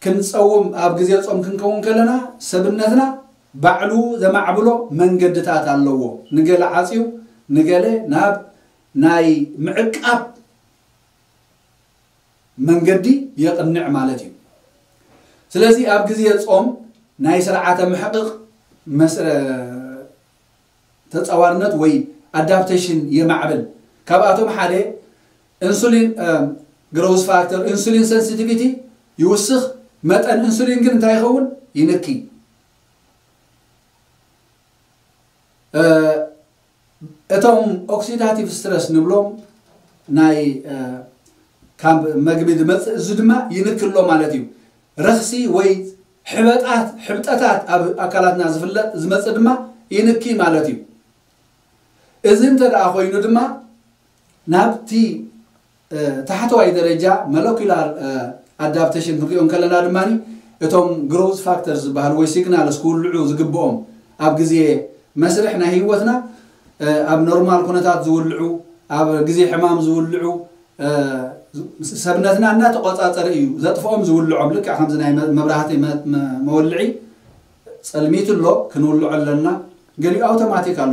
ክንፀውም ኣብ ግዜ ፆም ክንከውን ከለና ሰብነትና ባዕሉ ዘማዕብሎ መንገድታት ኣለዎ። ንገለ ዓፅዩ ንገለ ናብ ናይ ምዕቃብ መንገዲ የቕንዕ ማለት እዩ። ስለዚ ኣብ ግዜ ጾም ናይ ስርዓተ ምሕቕቕ መስረ ተጻዋርነት ወይ ኣዳፕቴሽን የማዕብል። ካብኣቶም ሓደ ኢንሱሊን ግሮውዝ ፋክተር፣ ኢንሱሊን ሴንሲቲቪቲ ይውስኽ። መጠን ኢንሱሊን ግን እንታይ ይኸውን? ይንኪ። እቶም ኦክሲዳቲቭ ስትረስ ንብሎም ናይ ካብ መግቢ ዝመፅእ፣ እዚ ድማ ይንክሎ ማለት እዩ። ረኽሲ ወይ ሕበጣት ሕብጠታት ኣብ ኣካላትና ዝፍለጥ ዝመፅእ ድማ ይንኪ ማለት እዩ። እዚ እንተ ደኣ ኮይኑ ድማ ናብቲ ታሕተዋይ ደረጃ ሞለኩላር ኣዳፕቴሽን ክንሪኦ እንከለና ድማ እቶም ግሮዝ ፋክተር ዝበሃሉ ወይ ሲግናልስ ክውልዑ ዝግብኦም ኣብ ግዜ መስርሕ ናይ ህይወትና ኣብ ኖርማል ኩነታት ዝውልዑ፣ ኣብ ግዜ ሕማም ዝውልዑ፣ ሰብነትና እናተቆጻጸረ እዩ ዘጥፍኦም ዝውልዖም። ልክዕ ከምዚ ናይ መብራህቲ መወልዒ ጸልሚት ኣሎ፣ ክንውልዖ ኣለና። ገሊኡ ኣውቶማቲክ ኣሎ።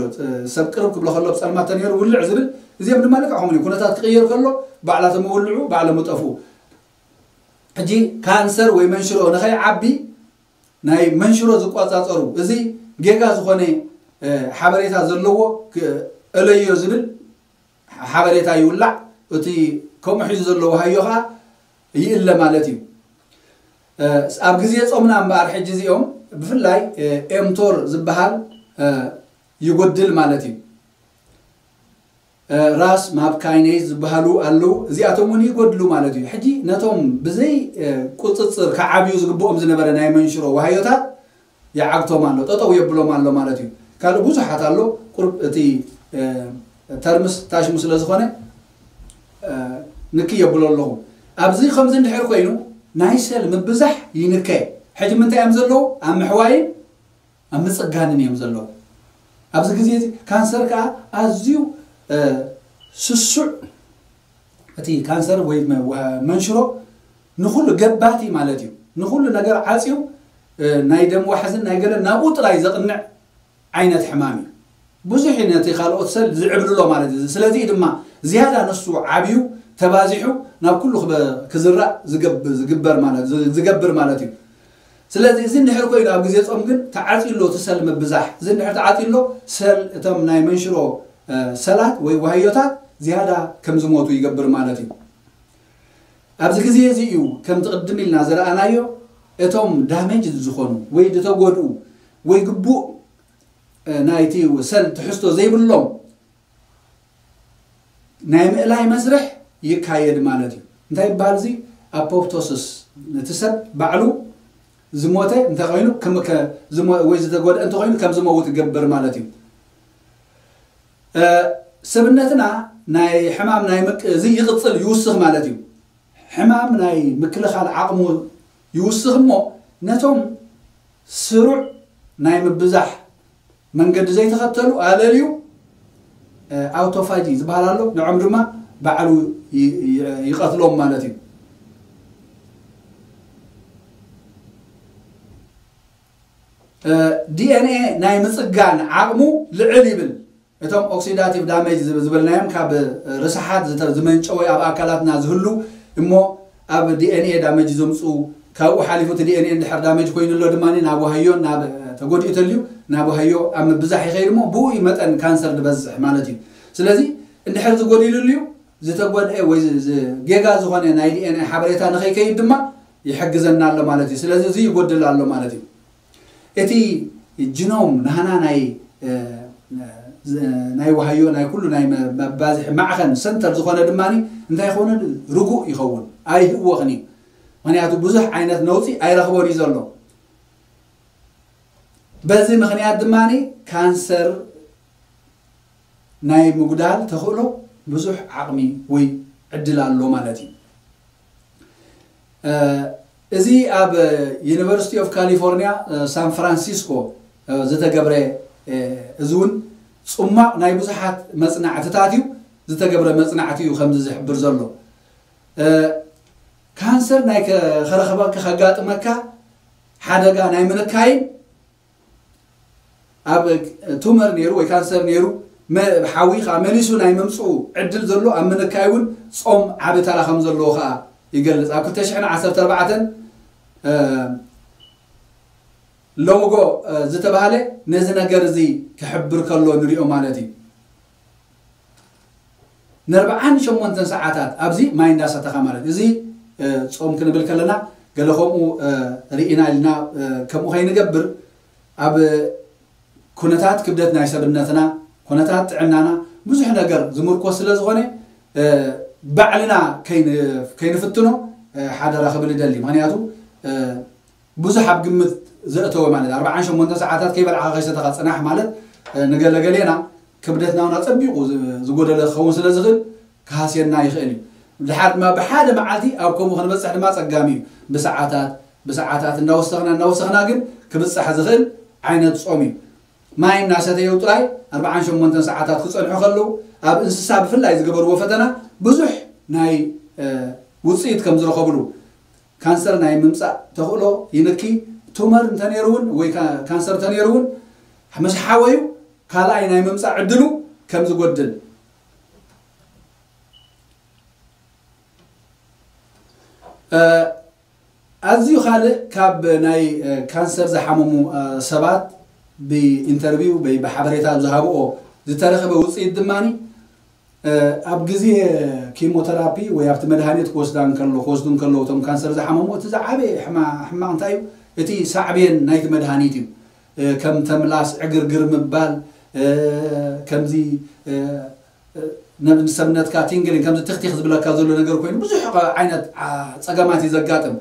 ሰብ ቅርብ ክብሎ ከሎ ብጸልማት ተነይሩ ውልዕ ዝብል፣ እዚኦም ድማ ልክዕ ከምኡ ኩነታት ክቕየር ከሎ ባዕላቶም ውልዑ ባዕሎም ጠፍኡ። ሕጂ ካንሰር ወይ መንሽሮ ንኸይዓቢ ናይ መንሽሮ ዝቆጻጸሩ፣ እዚ ጌጋ ዝኾነ ሓበሬታ ዘለዎ እለዮ ዝብል ሓበሬታ ይውላዕ። እቲ ከምኡ ሒዙ ዘለዎ ሃዮ ከዓ ይእለ ማለት እዩ። ኣብ ግዜ ጾምና እምበኣር ሕጂ እዚኦም ብፍላይ ኤምቶር ዝበሃል ይጎድል ማለት እዩ። ራስ ማፕ ካይኔዝ ዝበሃሉ ኣለዉ። እዚኣቶም እውን ይጎድሉ ማለት እዩ። ሕጂ ነቶም ብዘይ ቁፅፅር ክዓብዩ ዝግብኦም ዝነበረ ናይ መንሽሮ ዋህዮታት ይዓግቶም ኣሎ፣ ጠጠው የብሎም ኣሎ ማለት እዩ። ካልእ ብዙሓት ኣሎ። ቁርብ እቲ ተርምስ ታሽሙ ስለ ዝኾነ ንክ የብሎ ኣለኹ። ኣብዚ ከምዚ እንድሕር ኮይኑ ናይ ሰል ምብዛሕ ይንከ። ሕጂ ምንታይ እዮም ዘለዉ? ኣብ ምሕዋይን ኣብ ምጽጋንን እዮም ዘለዉ። ኣብዚ ግዜ እዚ ካንሰር ከዓ ኣዝዩ ስሱዕ፣ እቲ ካንሰር ወይ መንሽሮ ንኩሉ ገባቲ ማለት እዩ። ንኩሉ ነገር ዓፅዩ ናይ ደም ዋሕዝን ናይ ገለ ናብኡ ጥራይ ዘቕንዕ ዓይነት ሕማም እዩ። ብዙሕ ነቲ ካልኦት ሰል ዝዕብልሎ ማለት እዩ። ስለዚ ድማ ዝያዳ ንሱ ዓብዩ ተባዚሑ ናብ ኩሉ ክዝራእ ዝገብር ማለት እዩ። ስለዚ እዚ እንድሕር ኮይኑ ኣብ ግዜ ጾም ግን ተዓፅዩ ኣሎ እቲ ሰል ምብዛሕ። እዚ እንድሕር ተዓፅዩ ኣሎ ሰል እቶም ናይ መንሽሮ ሰላት ወይ ዋህዮታት ዝያዳ ከም ዝሞቱ ይገብር ማለት እዩ። ኣብዚ ግዜ እዚ እዩ ከምቲ ቅድም ኢልና ዝረኣናዮ እቶም ዳሜጅ ዝኾኑ ወይ ዝተጎድኡ ወይ ግቡእ ናይቲ ሰል ትሕዝቶ ዘይብሎም ናይ ምእላይ መስርሕ ይካየድ ማለት እዩ። እንታይ ይበሃል እዚ? ኣፖፕቶሲስ። ነቲ ሰብ ባዕሉ ዝሞተ እንተኮይኑ ወይ ዝተጎድአ እንተኮይኑ ከም ዝመውት ይገብር ማለት እዩ። ሰብነትና ናይ ሕማም ናይ ምቅ እዚ ይቕፅል ይውስኽ ማለት እዩ። ሕማም ናይ ምክልኻል ዓቕሙ ይውስኽ እሞ ነቶም ስሩዕ ናይ ምብዛሕ መንገዲ ዘይተኸተሉ ኣለልዩ ኣውቶፋጂ ዝበሃል ኣሎ። ንዖም ድማ ባዕሉ ይቐትሎም ማለት እዩ። ዲኤንኤ ናይ ምፅጋን ዓቕሙ ልዕል ይብል። እቶም ኦክሲዳቲቭ ዳሜጅ ዝበልናዮም ካብ ርስሓት ዝመንጨወ ኣብ ኣካላትና ዝህሉ እሞ ኣብ ዲኤንኤ ዳሜጅ ዘምፁ፣ ካብኡ ሓሊፉ እቲ ዲኤንኤ እንድሕር ዳሜጅ ኮይኑ ኣሎ ድማ ናብ ዋህዮ ናብ ተጎዲኡ ተልዩ ናብ ዋህዮ ኣብ ምብዛሕ ይኸይድ እሞ ብኡ መጠን ካንሰር ዝበዝሕ ማለት እዩ። ስለዚ እንድሕር ዝጎዲሉ ልዩ ዝተጎድአ ወይ ጌጋ ዝኾነ ናይ ዲኤንኤ ሓበሬታ ንኸይከይድ ድማ ይሕግዘና ኣሎ ማለት እዩ። ስለዚ እዚ ይጎድል ኣሎ ማለት እዩ። እቲ ጅኖም ናህና ናይ ናይ ዋህዮ ናይ ኩሉ ናይ መባዝሒ ማዕኸን ሰንተር ዝኾነ ድማ እንታይ ይኸውን? ርጉእ ይኸውን፣ ኣይህወኽን እዩ። ምክንያቱ ብዙሕ ዓይነት ነውፂ ኣይረኽቦን እዩ ዘሎ። በዚ ምክንያት ድማ ካንሰር ናይ ምጉዳል ተኽእሎ ብዙሕ ዓቕሚ ወይ ዕድል ኣሎ ማለት እዩ። እዚ ኣብ ዩኒቨርሲቲ ኦፍ ካሊፎርኒያ ሳን ፍራንሲስኮ ዝተገብረ፣ እዚ እውን ፅሟቕ ናይ ብዙሓት መፅናዕትታት እዩ፣ ዝተገብረ መፅናዕቲ እዩ ከምዚ ዝሕብር ዘሎ። ካንሰር ናይ ከረኸበካ ከጋጥመካ ሓደጋ ናይ ምንካይን ኣብ ቱመር ነይሩ ወይ ካንሰር ነይሩ ሓዊ ከዓ መሊሱ ናይ ምምፅኡ ዕድል ዘሎ ኣብ ምንካይ እውን ፆም ዓቢ ተራ ከም ዘለዎ ከዓ ይገልጽ። ኣብ ክልተ ሽሕን ዓሰርተ ኣርባዕተን ሎምጎ ዝተባህለ ነዚ ነገር እዚ ክሕብር ከሎ ንሪኦ ማለት እዩ። ንኣርብዓን ሸሞንተን ሰዓታት ኣብዚ ማይ እንዳሰተኻ ማለት እዚ ጾም ክንብል ከለና ገለ ከምኡ ርኢና ኢልና ከምኡ ከይንገብር ኣብ ኩነታት ክብደት ናይ ሰብነትና ኩነታት ጥዕናና ብዙሕ ነገር ዝምርኮስ ስለ ዝኾነ ባዕልና ከይንፍትኖ ሓደራ ክብል ይደሊ። ምክንያቱ ብዙሕ ኣብ ግምት ዘእተወ ማለት ኣርባዓን ሸሞንተ ሰዓታት ከይበልዓኻ ከይሰተኻ ፅናሕ ማለት ንገለገሌና ክብደትና እውን ኣፀቢቑ ዝጎደለ ክኸውን ስለ ዝኽእል ክሃስየና ይኽእል እዩ። ድሓር ድማ ብሓደ መዓልቲ ኣብ ከምኡ ክንበፅሕ ድማ ፀጋሚ እዩ። ብሰዓታት ብሰዓታት እንዳወሰኽና እንዳወሰኽና ግን ክብፃሕ ዝኽእል ዓይነት ፆም እዩ። ማይ እናሰተየው ጥራይ ኣርባዓን ሸሞንተን ሰዓታት ክፀንሑ ከለዉ ኣብ እንስሳ ብፍላይ ዝገበርዎ ፈተና ብዙሕ ናይ ውፅኢት ከም ዝረኸብሉ ካንሰር ናይ ምምፃእ ተኽእሎ ይንኪ። ቱመር እንተነይሩ እውን ወይ ካንሰር እንተነይሩ እውን ምስ ሓወዩ ካልኣይ ናይ ምምፃእ ዕድሉ ከም ዝጎድል ኣዝዩ ካልእ ካብ ናይ ካንሰር ዝሓመሙ ሰባት ብኢንተርቪው ወይ ብሓበሬታ ዝሃብኦ ዝተረኸበ ውፅኢት ድማ ኣብ ግዜ ኬሞተራፒ ወይ ኣብቲ መድሃኒት ክወስዳ እንከሎ ክወስዱ እንከለዉ እቶም ካንሰር ዝሓመሙ እቲ ዝዓበየ ሕማቕ እንታይ እዩ? እቲ ሳዕቤን ናይቲ መድሃኒት እዩ። ከም ተምላስ ዕግርግር ምባል ከምዚ ንሰብነትካ ቲንግሊን ከምዚ ትኽቲኽ ዝብለካ ዘሎ ነገር ኮይኑ ብዙሕ ዓይነት ፀገማት እዩ ዘጋጥም።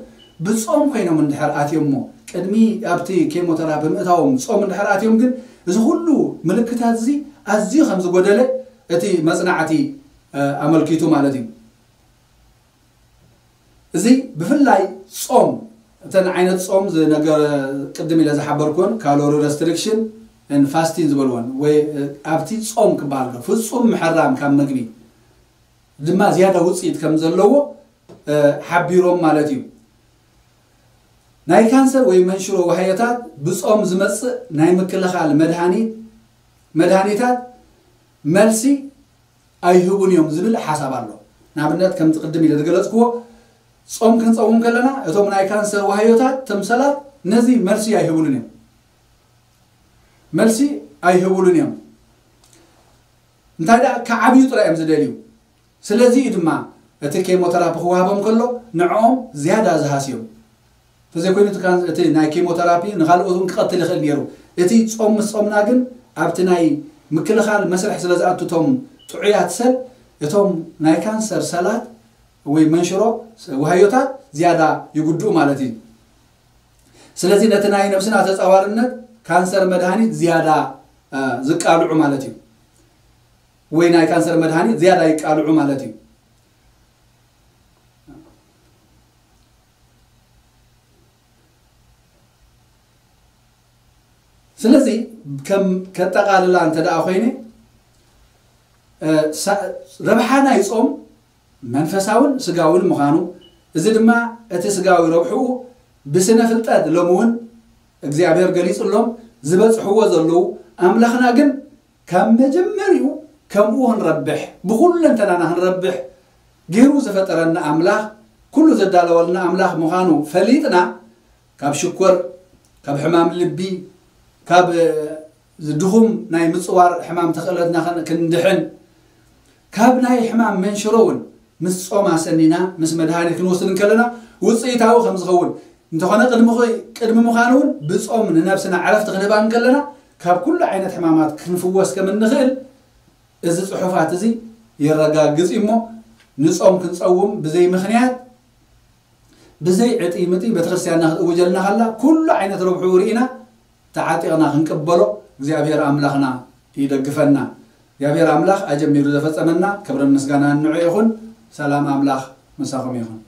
ብፆም ኮይኖም እንድሕር ኣትዮም እሞ ቅድሚ ኣብቲ ኬሞተራፒ ምእታዎም ፆም እንድሕር ኣትዮም ግን እዚ ኩሉ ምልክታት እዚ ኣዝዩ ከም ዝጎደለ እቲ መፅናዕቲ ኣመልኪቱ ማለት እዩ። እዚ ብፍላይ ጾም እተን ዓይነት ጾም ዝነገረ ቅድም ኢለ ዝሓበርኩን ካሎሪ ረስትሪክሽን ን ፋስቲን ዝበልወን ወይ ኣብቲ ጾም ክበሃል ፍጹም ምሕራም ካብ መግቢ ድማ ዝያዳ ውፅኢት ከም ዘለዎ ሓቢሮም ማለት እዩ። ናይ ካንሰር ወይ መንሽሮ ዋህዮታት ብጾም ዝመፅእ ናይ ምክልኻል መድሃኒት መድሃኒታት መልሲ ኣይህቡን እዮም ዝብል ሓሳብ ኣሎ። ንኣብነት ከምቲ ቅድም ኢለ ዝገለፅክዎ ጾም ክንፀውም ከለና እቶም ናይ ካንሰር ዋህዮታት ተምሰላት ነዚ መልሲ ኣይህቡሉን እዮም። መልሲ ኣይህቡሉን እዮም። እንታይ ደኣ ክዓብዩ ጥራይ እዮም ዝደልዩ። ስለዚ እዩ ድማ እቲ ኬሞተራፒ ክወሃቦም ከሎ ንዕኦም ዝያዳ ዝሃስዮም። እንተዘይኮይኑ እቲ ናይ ኬሞተራፒ ንኻልኦት እውን ክቐትል ይኽእል ነይሩ። እቲ ጾም ምስ ጾምና ግን ኣብቲ ናይ ምክልኻል መስርሕ ስለ ዝኣቱ እቶም ጥዑያት ሰል እቶም ናይ ካንሰር ሰላት ወይ መንሽሮ ዋህዮታት ዝያዳ ይጉድኡ ማለት እዩ። ስለዚ ነቲ ናይ ነብስና ተጻዋርነት ካንሰር መድሃኒት ዝያዳ ዝቃልዑ ማለት እዩ። ወይ ናይ ካንሰር መድሃኒት ዝያዳ ይቃልዑ ማለት እዩ። ስለዚ ከም ከጠቓልላ እንተ ደኣ ኮይነ ረብሓ ናይ ጾም መንፈሳውን ስጋውን ምዃኑ እዚ ድማ እቲ ስጋዊ ረብሕኡ ብስነ ፍልጠት ሎሚ እውን እግዚኣብሔር ገሊጹሎም ዝበጽሕዎ ዘለዉ ኣምላኽና ግን ካብ መጀመሪኡ ከምኡ ክንረብሕ ብኹሉ እንተናና ክንረብሕ ገይሩ ዝፈጠረና ኣምላኽ ኩሉ ዘዳለወልና ኣምላኽ ምዃኑ ፈሊጥና ካብ ሽኮር ካብ ሕማም ልቢ ካብ ድኹም ናይ ምፅዋር ሕማም ተኽእለትና ክንድሕን ካብ ናይ ሕማም መንሽሮ እውን ምስ ጾም ኣሰኒና ምስ መድሃኒት ክንወስድ እንከለና ውፅኢታዊ ከም ዝኸውን እንተኾነ ቅድሚ ምዃኑ እውን ብጾም ንነብስና ዕረፍቲ ክንህባ እንከለና ካብ ኩሉ ዓይነት ሕማማት ክንፍወስ ከም እንኽእል እዚ ፅሑፋት እዚ የረጋግፅ እዩ እሞ ንጾም ክንፀውም ብዘይ ምኽንያት ብዘይ ዕጢ ምጢ ቤተክርስትያንና ክትእውጀልና ከላ ኩሉ ዓይነት ረብሕኡ ርኢና ተዓጢቕና ክንቅበሎ እግዚኣብሔር ኣምላኽና ይደግፈና። እግዚኣብሔር ኣምላኽ ኣጀሚሩ ዘፈጸመና ክብርን ምስጋናን ንዑ ይኹን። ሰላም ኣምላኽ ምሳኹም ይኹን።